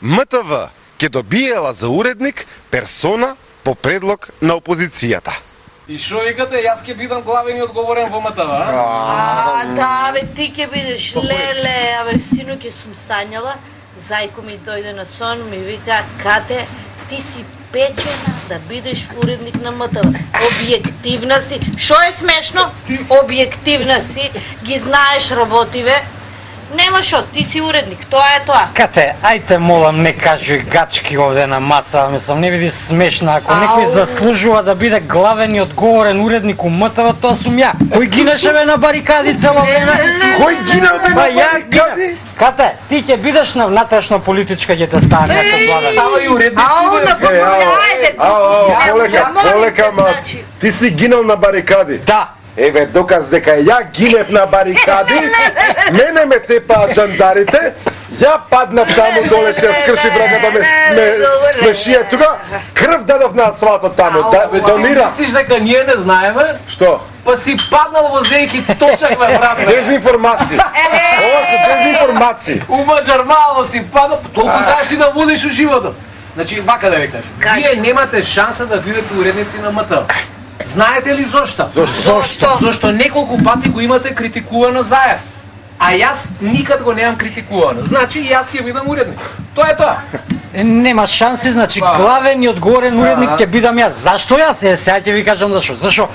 МТВ ќе добиела за уредник персона по предлог на опозицијата. И шо викате, јас ќе бидам главен и одговорен во МТВ, Да, бе, ти ќе бидеш, леле, абе, синоќ сум сањала, зајко ми дојде на сон, ми вика, Кате, ти си печена да бидеш уредник на МТВ. Објективна си, шо е смешно? Објективна си, ги знаеш работиве, нема шо, ти си уредник, тоа е тоа. Кате, ајте молам, не кажи гачки овде на маса, мислам, не биде смешна, ако некој заслужува да биде главен и одговорен уредник у МТВ, тоа сум ја. Кој гинеше бе на барикади цело време? Кој гина бе на барикади? Кате, ти ќе бидеш на внатрешно политичка ќе те стане ако главен. става и уредници, бе. Полека, мац. Ти си гинал на барикади. Да. Еве, доказ дека ја гинев на барикади, мене ме тепаа джандарите, ја паднав таму доле, се скрши браката ме шие тука, крв дадов на асфалтот таму, донира. Мислиш дека ние не знаеме? Што? Па си паднал во зејки точак, бе, брат. Дезинформација. Ова се дезинформација. У Маџармало си паднал, толку знаеш ти да возиш у животот. Значи, вака да ви кажам, вие немате шанса да бидете уредници на МТВ. Знаете ли зошто? Зошто? Зошто неколку пати го имате критикувано Заев. А јас никад го немам критикувано. Значи јас ќе бидам уредник. Тоа е тоа. Нема шанси, значи главен и одговорен уредник ќе бидам јас. Зашто јас? Сега ќе ви кажам зашо. Зашо?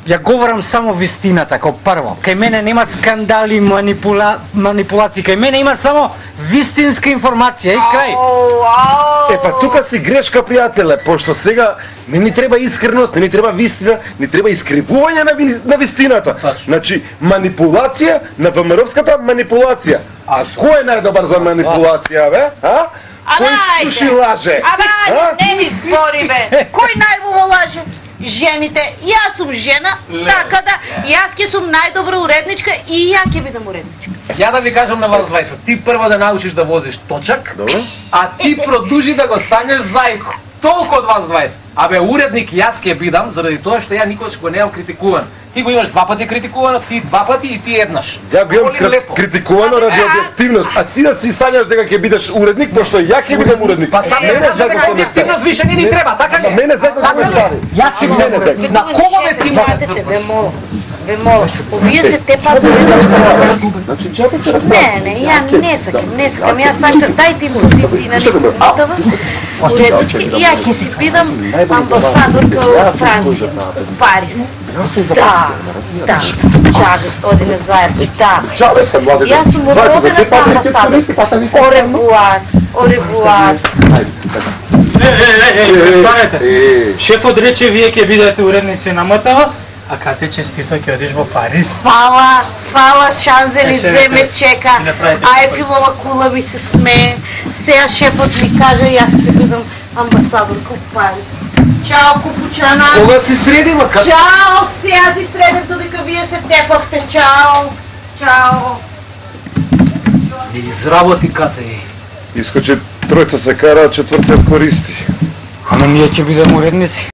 Ја говорам само вистината, како прво. Кај мене нема скандали, манипулации, кај мене има само вистинска информација и крај. Епа тука си грешка, пријателе, пошто сега не ни треба искреност, не ни треба вистина, не треба искривување на вистината. Значи, манипулација на ВМРО-вската манипулација. А кој е најдобар за манипулација, бе? А? Кој суши лаже? Не ми спори, бе. Кој најубаво лаже? Жените, јас сум жена, така да, јас ќе сум најдобра уредничка и ја ќе бидам уредничка. Ја да ви кажам на вас двајца, ти прво да научиш да возиш точак, а ти продужи да го сањаш зајко. Толку од вас двајца. Абе, уредник јас ќе бидам, заради тоа што ја никогаш го немам критикуван. Ти го имаш два пати критикувано, ти два пати и ти еднаш. Ја го имам критикувано ради објективност, а ти да си сањаш дека ќе бидеш уредник, пошто ја ќе бидам уредник. Па сам мене за дека објективност више не ни треба, така ли? Мене зајко да ме стави. Јас ќе мене зајко. На кого ме ти мајте? Ве молам, овие се тепат за Значи, чака се Не, ја не сакам, јас сакам, дајте им позиции на МТВ, уреднички, и ја ќе си бидам амбасадорка во Франција, Париз. Да, господине Заев, да. Јас сум родена за амбасадор. Оревуар. Престанете. Шефот рече вие ќе бидете уредници на МТВ, а Кате честито ќе одиш во Париз. Фала, Шанзелизе ме чека, Ајфилова кула ми се смее, сега шефот ми кажа јас ќе бидам амбасадорка во Париз. Чао, купучана! Кога си средима? Чао, сега си средев додека вие се тепавте, чао! Изработи, Кате. Искочи тројца се кара, четвртиот користи. Ама ние ќе бидеме уредници.